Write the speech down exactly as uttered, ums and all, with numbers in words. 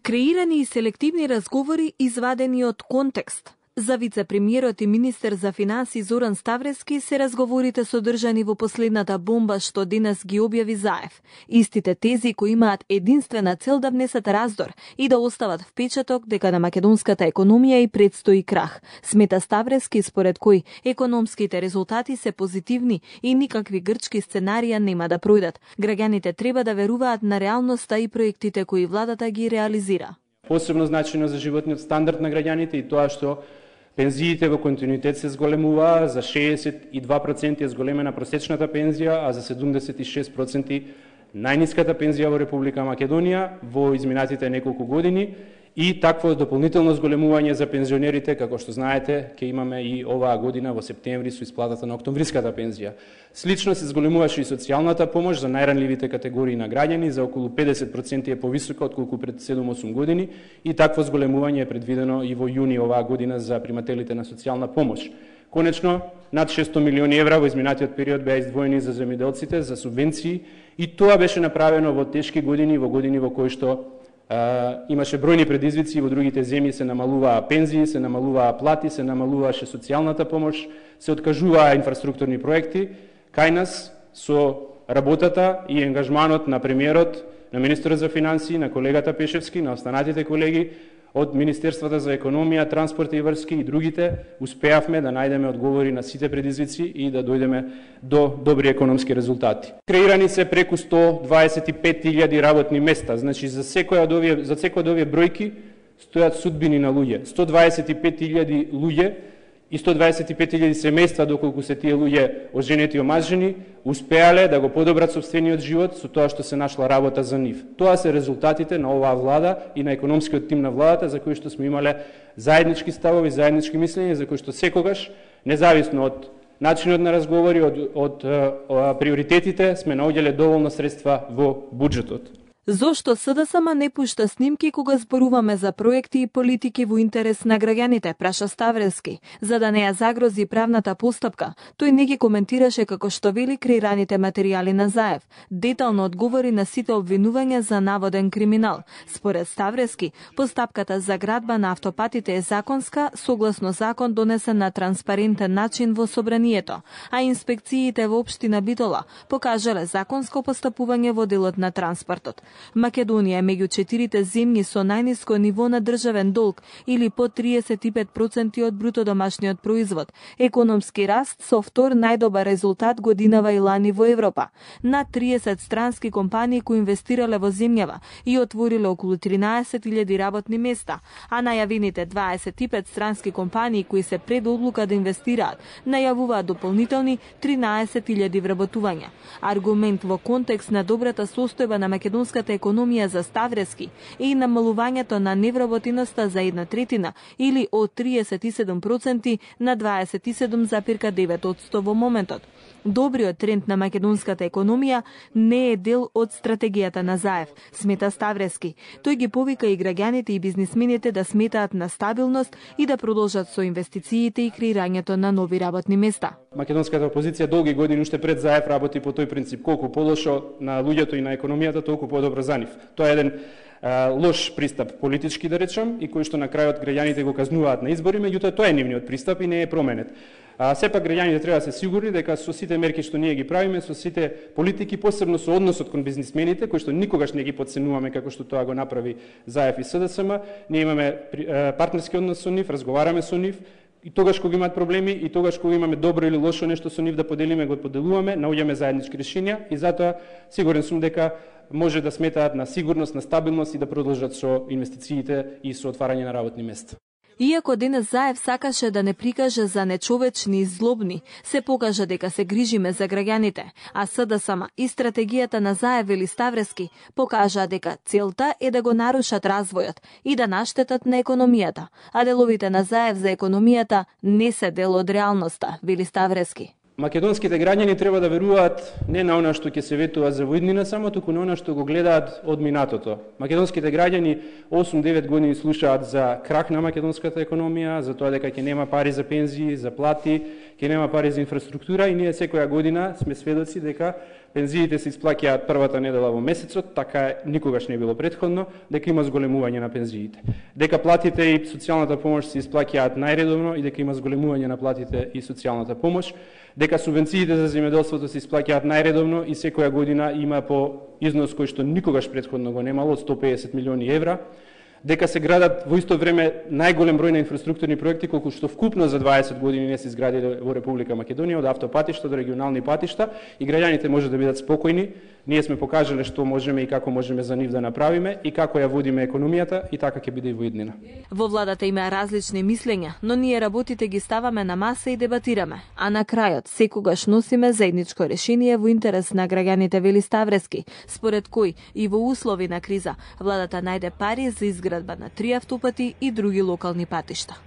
Креирани и селективни разговори извадени од контекст. За вице-премиерот и министер за финансии Зоран Ставрески се разговорите содржани во последната бомба што денес ги објави Заев. Истите тези кои имаат единствена цел да внесат раздор и да остават впечаток дека на македонската економија и предстои крах. Смета Ставрески според кој економските резултати се позитивни и никакви грчки сценарија нема да пројдат. Граѓаните треба да веруваат на реалноста и проектите кои владата ги реализира. Посебно значено за животниот стандард на граѓаните и тоа што пензиите во континуитет се зголемува, за шеесет и два проценти е зголемена просечната пензија, а за седумдесет и шест проценти најниската пензија во Република Македонија во изминатите неколку години и такво дополнително зголемување за пензионерите, како што знаете, ќе имаме и оваа година во септември со исплатата на октомвриската пензија. Слично се зголемуваше и социјалната помош за најранливите категории на граѓани, за околу педесет проценти е повисока отколку пред седум-осум години и такво зголемување е предвидено и во јуни оваа година за примателите на социјална помош. Конечно, над шестстотини милиони евра во изминатиот период беа издвоени за земјоделците, за субвенции и тоа беше направено во тешки години, во години во кои што Uh, имаше бројни предизвици, во другите земји се намалуваа пензии, се намалуваа плати, се намалуваше социјалната помош, се откажуваа инфраструктурни проекти. Кај нас со работата и ангажманот на премиерот, на министерот за финансии, на колегата Пешевски, на останатите колеги од Министерството за економија, транспорт и врски и другите, успеавме да најдеме одговори на сите предизвици и да дојдеме до добри економски резултати. Креирани се преку сто дваесет и пет илјади работни места, значи за секој од овие за секој од овие бројки стојат судбини на луѓе. сто дваесет и пет илјади луѓе и сто дваесет и пет илјади семејства, доколку се тие луѓе оженети и омажени, успеале да го подобрат сопствениот живот со тоа што се нашла работа за нив. Тоа се резултатите на оваа влада и на економскиот тим на владата, за кои што сме имале заеднички ставови, заеднички мислења, за кои што секогаш, независно од начинот на разговори, од, од, од приоритетите, сме наоѓале доволно средства во буџетот. Зошто СДСМ не пушта снимки кога зборуваме за проекти и политики во интерес на граѓаните, праша Ставрески, за да не ја загрози правната постапка. Тој не ги коментираше како што вели креираните материјали на Заев. Детално одговори на сите обвинувања за наводен криминал. Според Ставрески, постапката за градба на автопатите е законска, согласно закон донесен на транспарентен начин во собранието, а инспекциите во општина Битола покажале законско постапување во делот на транспортот. Македонија е меѓу четирите земји со најниско ниво на државен долг или по триесет и пет проценти од бруто домашниот производ. Економски раст со втор најдобар резултат годинава и лани во Европа. Над триесет странски компании кои инвестирале во земјава и отвориле околу тринаесет илјади работни места, а најавените дваесет и пет странски компании кои се пред одлука да инвестираат најавуваат дополнителни тринаесет илјади вработувања. Аргумент во контекст на добрата состојба на македонската економија за Ставрески и намалувањето на невработеноста за една третина или од триесет и седум проценти на дваесет и седум зарез девет проценти во моментот. Добриот тренд на македонската економија не е дел од стратегијата на Заев, смета Ставрески. Тој ги повика и граѓаните и бизнисмените да сметаат на стабилност и да продолжат со инвестициите и креирањето на нови работни места. Македонската опозиција долги години уште пред Заев работи по тој принцип: колку полошо на луѓето и на економијата, толку подобро за нив. Тоа е еден а, лош пристап политички, да речам, и кој што на крајот граѓаните го казнуваат на избори, меѓутоа тоа е нивниот пристап и не е променет. А сепак граѓаните треба да се сигурни дека со сите мерки што ние ги правиме, со сите политики, посебно со односот кон бизнисмените, кои што никогаш не ги потценуваме како што тоа го направи Заев и СДСМ, ние имаме партнерски однос со нив, разговараме со нив, и тогаш кога имаат проблеми и тогаш кога имаме добро или лошо нешто со нив да поделиме, го поделуваме, наоѓаме заеднички решенија и затоа сигурен сум дека може да сметаат на сигурност, на стабилност и да продолжат со инвестициите и со отварање на работни места. Иако денес Заев сакаше да не прикаже за нечовечни и злобни, се покажа дека се грижиме за граѓаните, а СДСМ и стратегијата на Заев или Ставрески покажа дека целта е да го нарушат развојот и да наштетат на економијата, а деловите на Заев за економијата не се дел од реалноста, вели Ставрески. Македонските граѓани треба да веруваат не на она што ќе се ветува за во иднина само, туку на она што го гледаат од минатото. Македонските граѓани осум девет години слушаат за крах на македонската економија, за тоа дека ќе нема пари за пензии, за плати, ќе нема пари за инфраструктура и ние секоја година сме сведоци дека пензиите се исплаќаат првата недела во месецот, така никогаш не било претходно, дека има зголемување на пензиите. Дека платите и социјалната помош се исплаќаат најредовно и дека има зголемување на платите и социјалната помош, дека субвенциите за земјоделството се исплаќаат најредовно и секоја година има по износ кој што никогаш претходно го немало од сто педесет милиони евра, дека се градат во исто време најголем број на инфраструктурни проекти колку што вкупно за дваесет години не се изградиле во Република Македонија, од автопатишта до регионални патишта, и граѓаните може да бидат спокојни. Ние сме покажале што можеме и како можеме за нив да направиме и како ја водиме економијата, и така ќе биде и во иднина. Во владата има различни мислења, но ние работите ги ставаме на маса и дебатираме, а на крајот секогаш носиме заедничко решение во интерес на граѓаните, вели Ставрески, според кој и во услови на криза владата најде пари за изградба на три автопати и други локални патишта.